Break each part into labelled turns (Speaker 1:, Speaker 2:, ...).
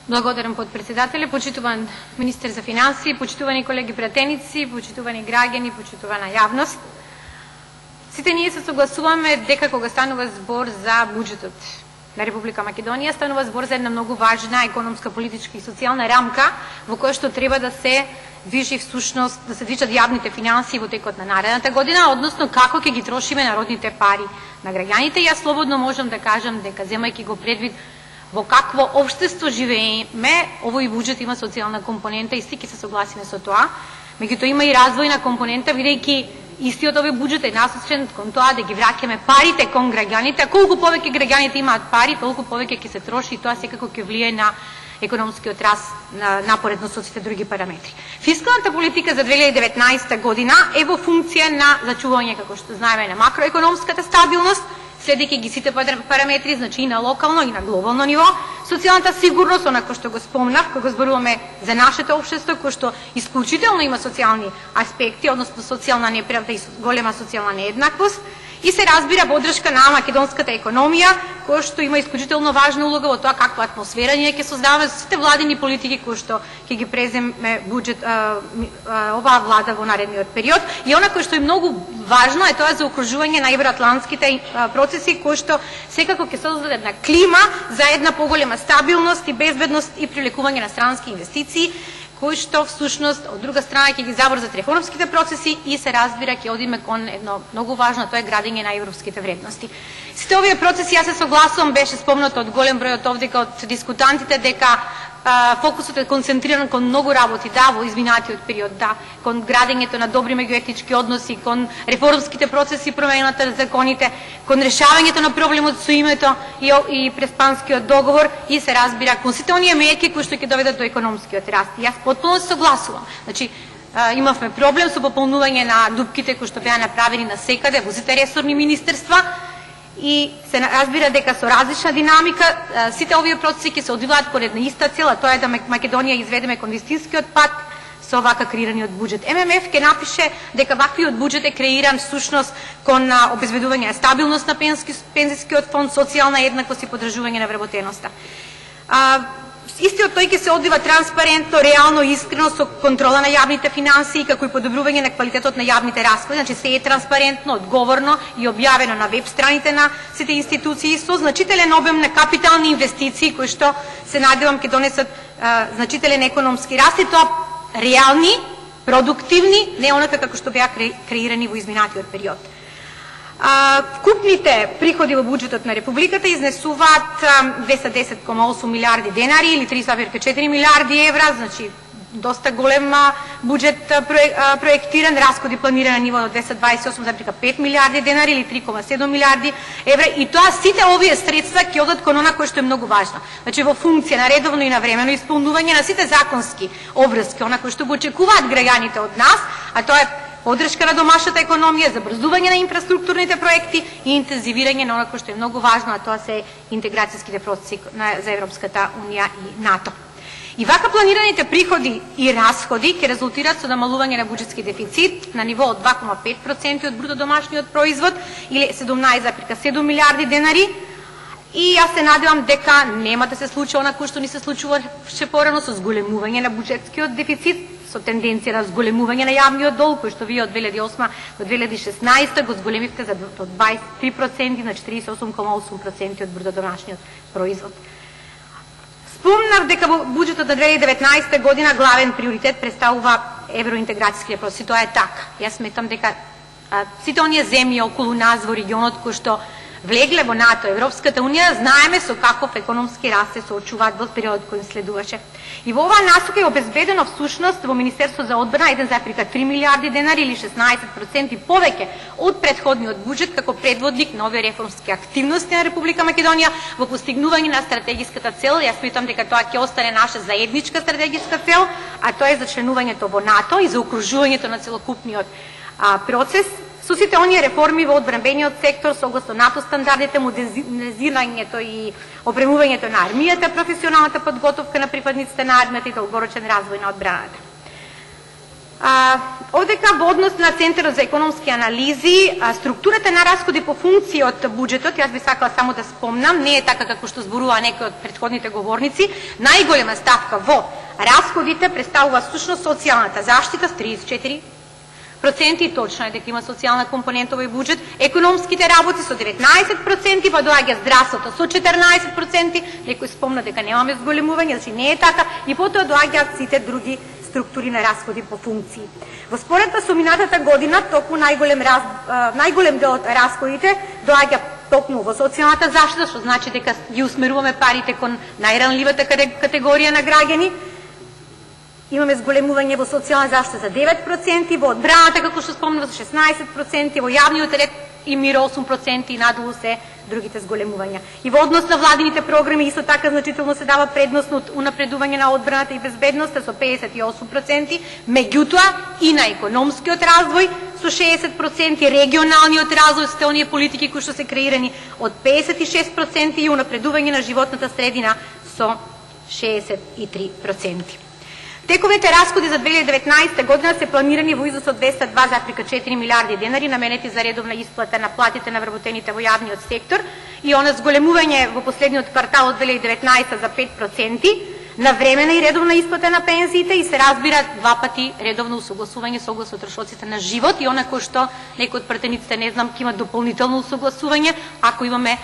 Speaker 1: Благодарам подпредседателе, почитуван министер за финансии, почитувани колеги пратеници, почитувани граѓани, почитувана јавност. Сите ние се согласуваме дека кога станува збор за буџетот на Република Македонија, станува збор за една многу важна економска, политичка и социјална рамка во која што треба да се движи всушност, да се движат јавните финансии во текот на наредната година, односно како ќе ги трошиме народните пари на граѓаните. Јас слободно можам да кажам дека, земајќи го предвид во какво општество живееме, овој буџет има социјална компонента и сите се согласиме со тоа. Меѓутоа има и развојна компонента, бидејќи истиот овој буџет е насочен кон тоа да ги враќаме парите кон граѓаните, а колку повеќе граѓаните имаат пари, толку повеќе ќе се троши и тоа секако ќе влие на економскиот раст напоредно со сите други параметри. Фискалната политика за 2019 година е во функција на зачување, како што знаеме, на макроекономската стабилност, следејќи ги сите параметри, значи и на локално и на глобално ниво, социјалната сигурност, онако што го спомнав, кога зборуваме за нашето општество, кој што исклучително има социјални аспекти, односно социјална неправда и голема социјална нееднаквост, и се разбира подршка на македонската економија, која што има исклучително важна улога во тоа каква атмосфера ние ќе создаваме со сите владини политики кои што ќе ги преземе буџет оваа влада во наредниот период. И она кој што е многу важно е тоа за окружување на евроатлантските процеси кои што секако ќе создадат една клима за една поголема стабилност и безбедност и привлекување на странски инвестиции, кои што всушност од друга страна ќе ги забрзат реформските процеси и се разбира ќе одиме кон едно многу важно, тоа е градење на европските вредности. Сите овие процеси, јас се согласувам, беше спомнато од голем број од овде од дискутантите дека фокусот е концентриран кон многу работи, да, во изминатиот период, да, кон градењето на добри меѓуетнички односи, кон реформските процеси, промената на законите, кон решавањето на проблемот со името и преспанскиот договор и се разбира кон сите оние мерки кои што ќе доведат до економскиот раст. Јас потполно се согласувам. Значи, имавме проблем со пополнување на дупките кои што беа направени на секаде во сите ресорни министерства, и се разбира дека со различна динамика сите овие процеси ќе се одвиваат по една иста цел, а тоа е да Македонија изведеме кон вистинскиот пат со вака креираниот буџет. ММФ ќе напише дека ваквиот буџет е креиран всушност кон обезбедување на стабилност на пензискиот фонд, социјална еднаквост и подржување на вработеноста. Истиот тој ќе се одвива транспарентно, реално и искрено со контрола на јавните финансии, како и подобрување на квалитетот на јавните расходи, значи се е транспарентно, одговорно и објавено на веб страните на сите институции со значителен обем на капитални инвестиции кои што се надевам ќе донесат значителен економски раст и тоа реални, продуктивни, не онака како што беа креирани во изминатиот период. Вкупните приходи во буџетот на Републиката изнесуваат 210,8 милиарди денари или 3,4 милиарди евра, значи доста голем буџет проектиран, расходи планирани на ниво од 228,5 милиарди денари или 3,7 милиарди евра, и тоа сите овие средства ќе одат кон она кој што е многу важно. Значи во функција на редовно и навремено исполнување на сите законски обврски, она кој што го очекуваат граѓаните од нас, а тоа е подршка на домашната економија, забрзување на инфраструктурните проекти и интензивирање на она што е многу важно, а тоа се интеграцијските процеси за Европската унија и НАТО. И вака планираните приходи и расходи ќе резултираат со намалување на буџетски дефицит на ниво од 2,5% од бруто домашниот производ или 17,7 милиарди денари. И јас се надевам дека нема да се случи она кој што ни се случуваше порано со зголемување на буџетскиот дефицит, со тенденција на зголемување на јавниот долг, кој што вие од 2008 до 2016 го зголемивте за од 23% на 48,8% од бруто домашниот производ. Спомнав дека во буџетот на 2019 година главен приоритет представува евроинтеграцијските процеси. Тоа е така. Јас сметам дека сите оние земји околу нас во регионот кои што влегле во НАТО, Европската унија, знаеме со каков економски раст се соочуваат во периодот кој следуваше. И во оваа насока е обезбедено всушност во Министерство за одбрана 1,3 милиарди денари или 16% повеќе од претходниот буџет како предводник на овие реформски активности на Република Македонија во постигнување на стратегиската цел. Јас сметам дека тоа ќе остане наша заедничка стратегиска цел, а тоа е за членувањето во НАТО и за окружувањето на целокупниот процес со сите оние реформи во одбранбениот сектор согласно НАТО стандардите, модернизирањето и опремувањето на армијата, професионалната подготовка на припадниците на армијата и долгорочен развој на одбраната. Одека во однос на Центарот за економски анализи, структурата на расходи по функции од буџетот, јас би сакала само да спомнам, не е така како што зборува некои од претходните говорници, најголема ставка во расходите представува всушност социјалната заштита с 34%, и точно е дека има социјална компонента овој буџет, економските работи со 19%, па доаѓа здравството со 14%, некој спомна дека немаме зголемување, значи не е така, и потоа доаѓаат сите други структури на расходи по функции. Во споредба со минатата година, токму најголем дел од расходите доаѓа токму во социјалната заштита, што значи дека ги усмеруваме парите кон најранливата категорија на граѓани. Имаме зголемување во социјална заштита за 9%, во одбраната, како што спомнав, за 16%, во јавниот ред и мир 8% и надолу се другите зголемувања. И во однос на владините програми исто така значително се дава предност на унапредување на одбраната и безбедноста со 58%, меѓутоа и на економскиот развој со 60%, регионалниот развој, сите оние политики кои што се креирани од 56% и унапредување на животната средина со 63%. Тековите расходи за 2019 година се планирани во изnos од 202,4 милиарди денари наменети за редовна исплата на платите на вработените во јавниот сектор и она зголемување во последниот квартал од 2019 за 5%, навремена и редовна исплата на пензиите и се разбира два пати редовно усогласување согласно трошоците на живот и она кој што некои од пратениците не знам ќе има дополнително усогласување ако имаме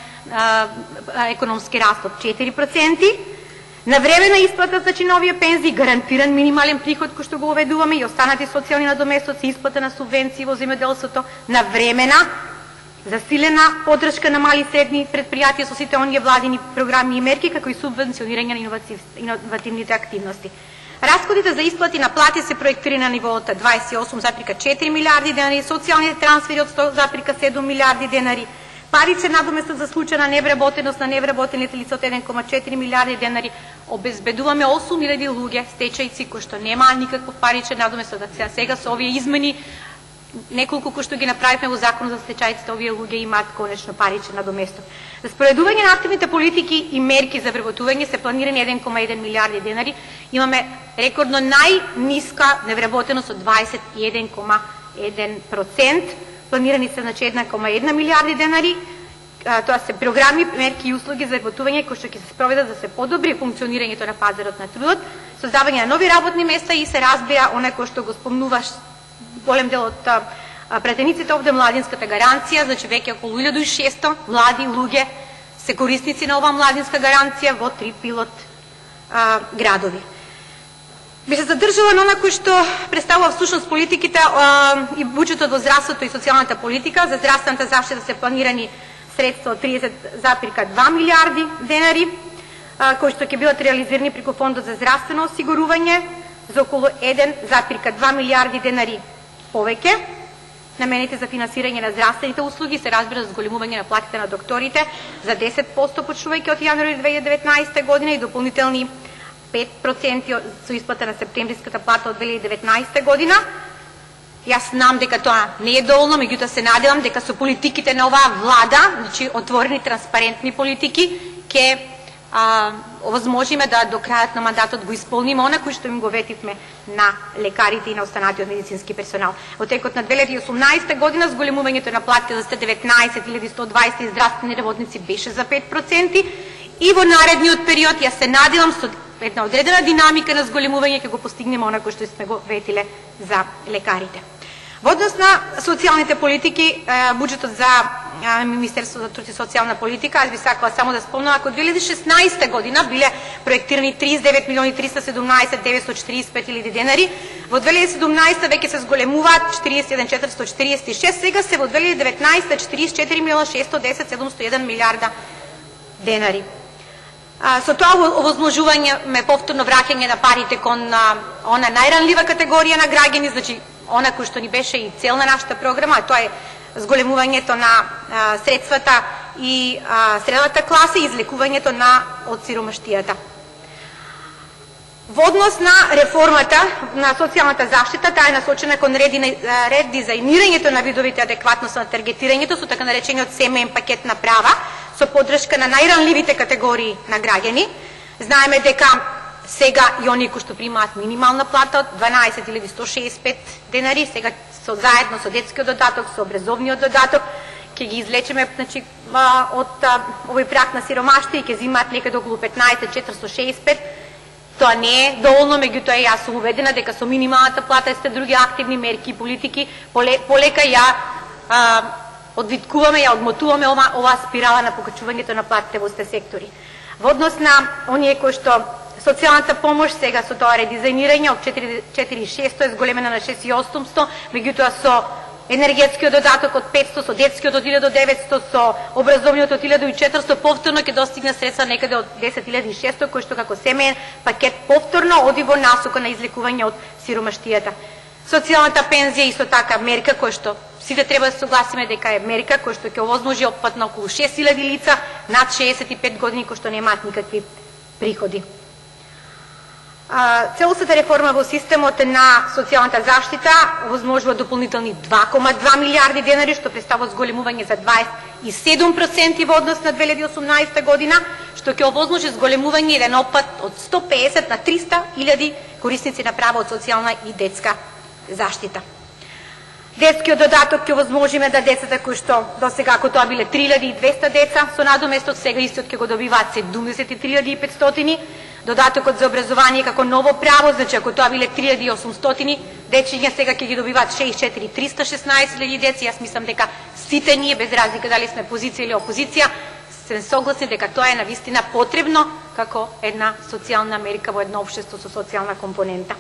Speaker 1: економски раст од 4%. Навремена исплата за чиновија пензии, гарантиран минимален приход кој што го уведуваме и останати социјални надоместоци, исплата на субвенции во земјоделството, навремена засилена поддршка на мали и средни предпријатија со сите оние владини програми и мерки, како и субвенционирање на иновативните активности. Расходите за исплати на плати се проектирани на ниво од 28,4 милиарди денари, социјалните трансфери од 100,7 милиарди денари, паричен надоместок за случај на невработеност на невработените лица од 1,4 милиарди денари, обезбедуваме 8.000 луѓе стечајци кои што немаа никаков паричен надоместок. Сега со овие измени, неколку кои што ги направивме во Закон за стечајците, овие луѓе имаат конечно паричен надоместок. За споредување на активните политики и мерки за вработување се планирани 1,1 милиарди денари. Имаме рекордно најниска невработеност од 21,1%. Планирани се значи 1,1 милиарди денари. Тоа се програми, мерки и услуги за вработување кои што ќе се спроведат да се подобри функционирањето на пазарот на трудот, создавање на нови работни места и се разбира она кој што го спомнуваш голем дел од пратениците овде, младинската гаранција, значи веќе околу 1600 млади луѓе се корисници на оваа младинска гаранција во 3 пилот градови. Би се задржала на она кој што представува всушност политиките и буџетот во здравството и социјалната политика. За здравствената заштита се планирани средства од 30,2 милиарди денари, кои што ќе бидат реализирани преку Фондот за здравствено осигурување за околу 1,2 милиарди денари повеќе, намените за финансирање на здравствените услуги, се разбира за зголемување на платите на докторите за 10% почнувајќи од јануари 2019 година и дополнителни 5% со исплата на септемвриската плата од 2019 година. Јас знам дека тоа не е доволно, меѓутоа се надевам дека со политиките на оваа влада, значи отворени, транспарентни политики, ќе овозможиме да до крајот на мандатот го изполниме она кој што им го ветивме на лекарите и на останатиот медицински персонал. Во текот на 2018 година зголемувањето на платите за 19.120 здравствени работници беше за 5% и во наредниот период јас се надевам со една одредена динамика на зголемување ќе го постигнеме она кој што сме го ветиле за лекарите. Во однос на социјалните политики, буџетот за Министерството за труд и социјална политика, аз би сакала само да спомнам, ако 2016 година биле проектирани 39.317.945 денари, во 2017 веќе се зголемуваат 41.446, сега се во 2019 44.610.701 милиарда денари. Со тоа овозможување повторно враќање на парите кон она најранлива категорија на граѓани, значи она кој што ни беше и цел на нашата програма, а тоа е зголемувањето на средствата и средната класа и излекувањето од сиромаштијата. Во однос на реформата на социјалната заштита, таа е насочена кон редизајнирањето на видовите адекватност на таргетирањето со така наречениот семеен пакет на права, со поддршка на најранливите категории на граѓани. Знаеме дека сега и оние кои што примаат минимална плата од 12.165 денари, сега заедно со детскиот додаток, со образовниот додаток, ќе ги излечеме, значи, од овој прак на сиромаштво и ќе земаат некаде околу 15.465. Тоа не е доволно, меѓутоа јас сум убедена дека со минималната плата и сте други активни мерки и политики полека ја одвиткуваме, ја одмотуваме оваа спирала на покачувањето на платите во сте сектори. Во однос на оние кои што социјалната помош сега со тоа редизајнирање од 4.600 е зголемена на 6.800, меѓутоа со енергетскиот додаток од 500, со детскиот од 1.900, со образовниот од 1.400, повторно ќе достигне средства некаде од 10.600, кој што како семеен пакет повторно оди во насока на излекување од сиромаштијата. Социјалната пензија исто така мерка која што сите треба да се согласиме дека е мерка која што ќе овозможи опфат на околу 6.000 лица над 65 години кои што немаат никакви приходи. Целосната реформа во системот на социјалната заштита овозможува дополнителни 2,2 милиарди денари, што представува зголемување за 27% во однос на 2018 година, што ќе овозможи зголемување еден опфат од 150 на 300.000 корисници на права од социјална и детска заштита. Детскиот додаток ќе овозможиме да децата кои што досега, ако тоа биле 3.200 деца со надоместок, сега истиот ќе го добиваат 73.500. Додатокот за образование како ново право, значи ако тоа биле 3.800 дечиња, сега ќе ги добиваат 64.316 деца. Јас мислам дека сите ние, без разлика дали сме позиција или опозиција, се согласни дека тоа е навистина потребно како една социјална мерка во едно општество со социјална компонента.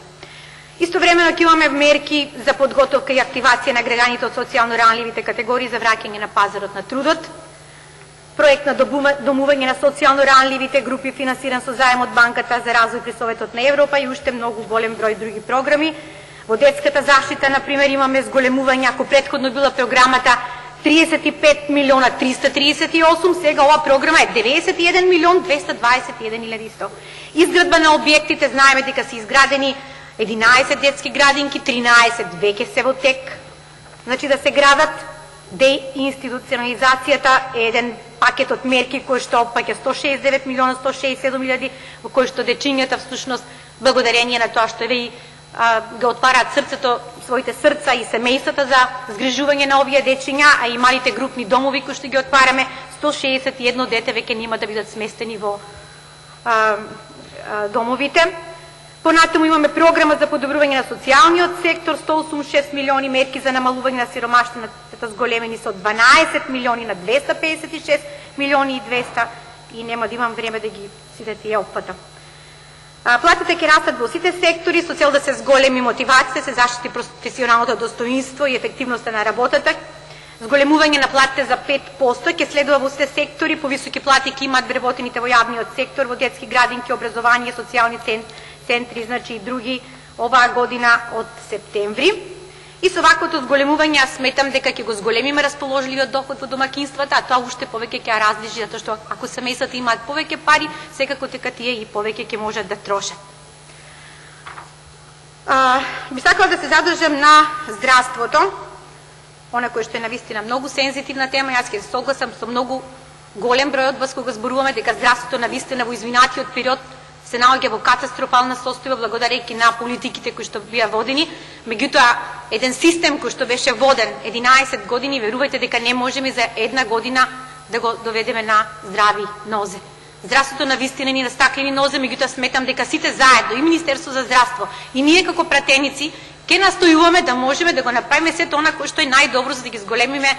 Speaker 1: Истовремено ќе имаме мерки за подготовка и активација на граѓаните од социјално ранливите категории за враќање на пазарот на трудот, проект на домување на социјално ранливите групи финансиран со заем од Банката за развој при Советот на Европа и уште многу голем број други програми. Во детската заштита, например, имаме зголемување, ако претходно била програмата 35 милиона 338, сега ова програма е 91 милион 221.100. Изградба на објектите, знаеме дека се изградени 11 детски градинки, 13 веќе се во тек, значи да се градат. Деинституционализацијата е еден пакет од мерки кој што опаќа 169 милиона 167.000, во кој што дечињата всушност благодарение на тоа што ви го отвараат срцето, своите срца и семејствата за згрижување на овие дечиња, а и малите групни домови кои што ги отвараме, 161 дете веќе нема да бидат сместени во домовите. Понатаму имаме програма за подобрување на социјалниот сектор, 186 милиони мерки за намалување на сиромаштината зголемени со 12 милиони на 256 милиони и 200 и нема да имам време да ги сите тие опфата. Платите ќе растат во сите сектори со цел да се зголеми мотивацијата, се заштити професионалното достоинство и ефективноста на работата. Зголемување на платите за 5% ќе следува во сите сектори, повисоки плати ќе имаат вработените во јавниот сектор, во детски градинки, образование, социјални центри, значи и други оваа година од септември. И со ваквото зголемување јас сметам дека ќе го зголемиме расположливиот доход во домакинствата, а тоа уште повеќе ќе ја различи, затоа што ако семејствата имаат повеќе пари, секако дека тие и повеќе ќе можат да трошат. Би сакала да се задржам на здравството, она кој што е навистина многу сензитивна тема. Јас ќе се согласам со многу голем број од вас кога зборуваме дека здравството навистина во извинатиот период се наоѓа во катастрофална состојба благодарејќи на политиките кои што бија водени. Меѓутоа, еден систем кој што беше воден 11 години, верувајте дека не можеме за една година да го доведеме на здрави нозе. Здравството навистина ни на стаклени нозе, меѓутоа сметам дека сите заедно, и Министерство за здравство, и ние како пратеници, ќе настојуваме да можеме да го направиме сето она кој што е најдобро за да ги зголемиме,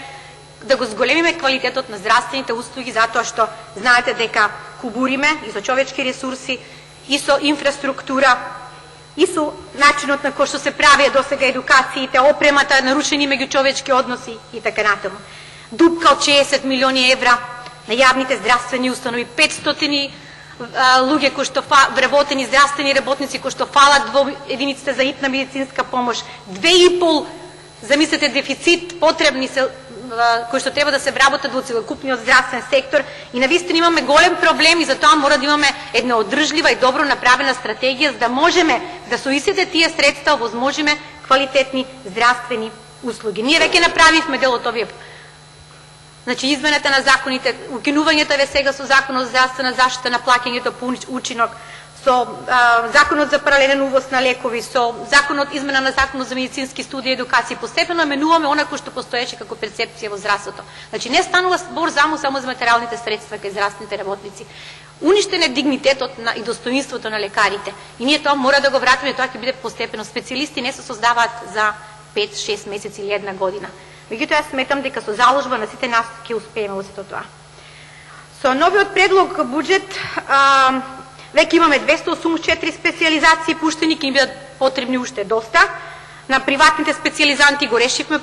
Speaker 1: да го зголемиме квалитетот на здравствените услуги, затоа што знаете дека кубуриме и со човечки ресурси, и со инфраструктура, и со начинот на кој што се прави досега едукациите, опремата, нарушени меѓучовечки односи и така натаму. Дупка од 60 милиони евра на јавните здравствени установи, 500 луѓе кои што вработени здравствени работници кои што фалат во единиците за итна медицинска помош, 2,5, замислете, дефицит потребни се кои што треба да се вработат во целокупниот здравствен сектор и навистина имаме голем проблем и затоа мора да имаме една одржлива и добро направена стратегија за да можеме да со истите тие средства овозможиме квалитетни здравствени услуги. Ние веќе направивме дел од овие Значи, измената на законите, укинувањето е сега со Законот за здравствена заштита на плаќањето по учинок, со Законот за паралелен увоз на лекови, со измена на Законот за медицински студии и едукација, постепено менуваме она кој што постоеше како перцепција во здравството. Значи, не станува збор само за материјалните средства кај здравствените работници. Уништен е дигнитетот и достоинството на лекарите. И ние тоа мора да го вратиме, тоа ќе биде постепено. Специјалисти не се создаваат за 5-6 месеци или една година. Меѓутоа, јас сметам дека со заложба на сите нас ќе успееме во сето тоа. Со новиот предлог буџет веќе имаме 284 специјализации пуштени, ќе им бидат потребни уште доста. На приватните специјализанти го решивме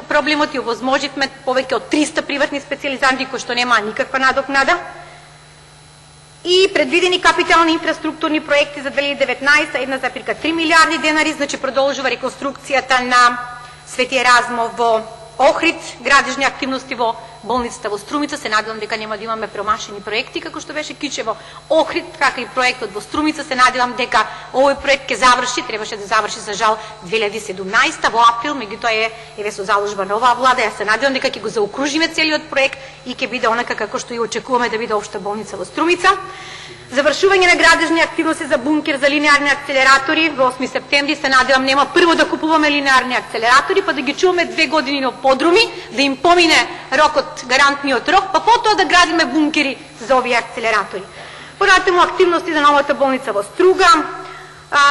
Speaker 1: проблемот и овозможивме повеќе од 300 приватни специјализанти кои што немаа никаква надокнада. И предвидени капитални инфраструктурни проекти за 2019, 1,3 милиарди денари, значи продолжува реконструкцијата на Свети Еразмо во Охрид, градежни активности во болницата во Струмица. Се надевам дека нема да имаме промашени проекти, како што беше Кичево, Охрид, како и проектот во Струмица. Се надевам дека овој проект ќе заврши, требаше да заврши за жал 2017 во април, меѓутоа еве со заложба на оваа влада. Јас се надевам дека ќе го заокружиме целиот проект и ќе биде онака како што и очекуваме да биде општа болница во Струмица. Завршување на градежни активности за бункер за линеарни акцелератори во 8 септември. Се надевам нема прво да купуваме линеарни акцелератори, па да ги чуваме 2 години на подруми, да им помине рокот, гарантниот рок, па потоа да градиме бункери за овие акцелератори. Понатаму активности за новата болница во Струга,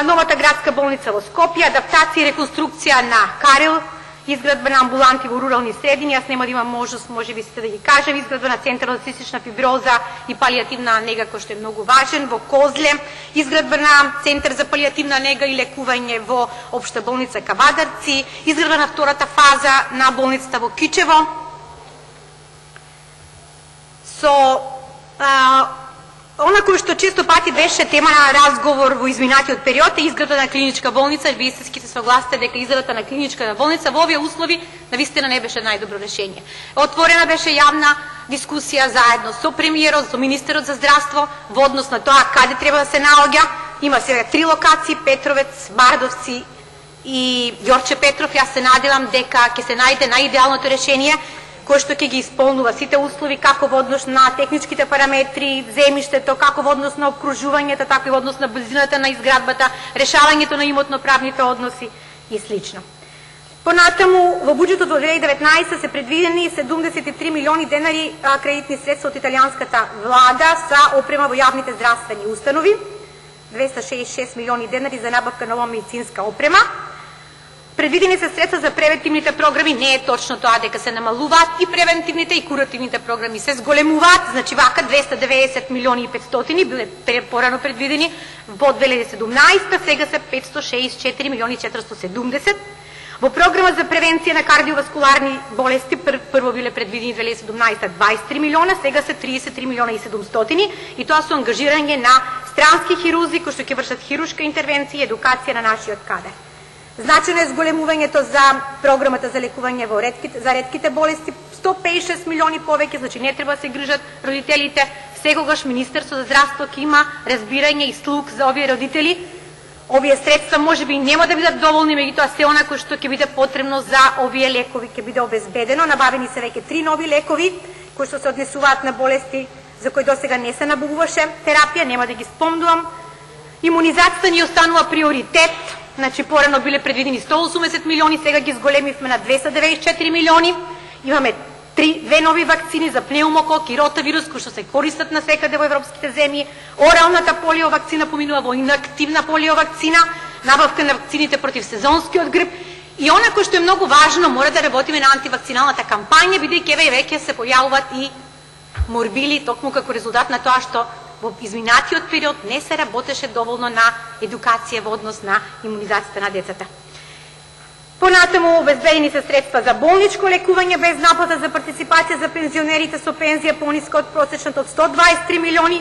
Speaker 1: новата градска болница во Скопје, адаптација и реконструкција на Карел, изградба на амбуланти во рурални средини. Јас нема да имам можност, можеби сите да ги кажем, изградба на центар за цистична фиброза и палијативна нега, кој што е многу важен во Козле, изградба на центар за палијативна нега и лекување во општа болница Кавадарци, изградба на втората фаза на болницата во Кичево. Со она кој што често пати беше тема на разговор во изминатиот период е изграда на клиничка болница. Вие се согласите дека изградата на клиничка болница во овие услови навистина не беше најдобро решение. Отворена беше јавна дискусија заедно со премиерот, со министерот за здравство во однос на тоа каде треба да се наоѓа. Има сега 3 локации: Петровец, Бардовци и Ѓорче Петров. Јас се надевам дека ќе се најде најидеалното решение кој што ќе ги исполнува сите услови, како во однос на техничките параметри, земјиштето, како во однос на обкружувањето, така и во однос на близината на изградбата, решавањето на имотно-правните односи и слично. Понатаму, во буџетот во 2019 се предвидени 73 милиони денари кредитни средства од италијанската влада за опрема во јавните здравствени установи, 266 милиони денари за набавка нова медицинска опрема. Предвидени се средства за превентивните програми. Не е точно тоа дека се намалуваат и превентивните и куративните програми се зголемуваат. Значи вака 290 милиони и 500 биле порано предвидени во 2017, сега се 564 милиони 470. Во програма за превенција на кардиоваскуларни болести прво биле предвидени 2017 23 милиона, сега се 33 милиона и 700 и тоа со ангажирање на странски хирузи кои што ќе вршат хирушка интервенција и едукација на нашиот кадар. Значено е зголемувањето за програмата за лекување за ретките болести, 156 милиони повеќе, значи не треба да се грижат родителите. Секогаш Министерството за здравство ќе има разбирање и слух за овие родители. Овие средства можеби нема да бидат доволни, меѓутоа се она кој што ќе биде потребно за овие лекови ќе биде обезбедено. Набавени се веќе 3 нови лекови кои што се однесуваат на болести за кои досега не се набавуваше терапија, нема да ги спомнувам. Имунизацијата ни останува приоритет. Значи, порано биле предвидени 180 милиони, сега ги зголемивме на 294 милиони. Имаме 2 нови вакцини за пнеумокок и ротавирус, кои што се користат насекаде во европските земји. Оралната полио вакцина поминува во инактивна полио вакцина, набавка на вакцините против сезонскиот грип. И она кој што е многу важно, мора да работиме на антивакциналната кампања, бидејќи веќе се појавуваат и морбили, токму како резултат на тоа што во изминатиот период не се работеше доволно на едукација во однос на имунизацијата на децата. Понатаму обезбедени се средства за болничко лекување без наплата за партиципација за пензионерите со пензија пониска од просечната од 123 милиони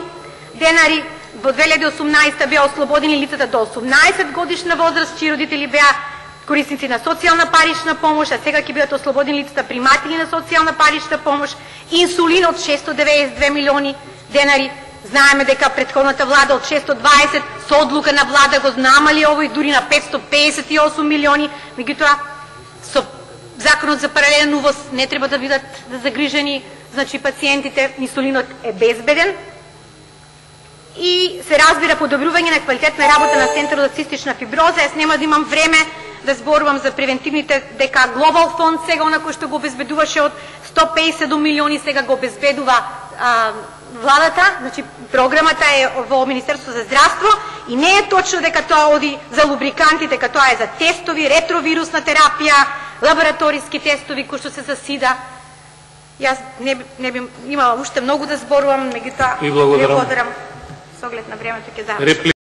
Speaker 1: денари. Во 2018 беа ослободени лицата до 18 годишна возраст, чии родители беа корисници на социјална парична помош, а сега ќе бидат ослободени лицата приматели на социјална парична помош. Инсулин од 692 милиони денари. Знаеме дека претходната влада од 620 со одлука на влада го намали овој дури на 558 милиони, меѓутоа со Законот за паралелен увоз не треба да бидат загрижени, значи пациентите, инсулинот е безбеден. И се разбира подобрување на квалитетна работа на Центарот за цистична фиброза. Јас нема да имам време да зборувам за превентивните, дека Глобал фонд сега онако што го обезбедуваше од 157 милиони, сега го обезбедува владата, значи програмата е во Министерство за здравство и не е точно дека тоа оди за лубриканти, дека тоа е за тестови, ретровирусна терапија, лабораториски тестови кои што се за СИДА. Јас не би имала уште многу да зборувам, меѓутоа
Speaker 2: ви благодарам.
Speaker 1: С оглед на времето ќе завршам.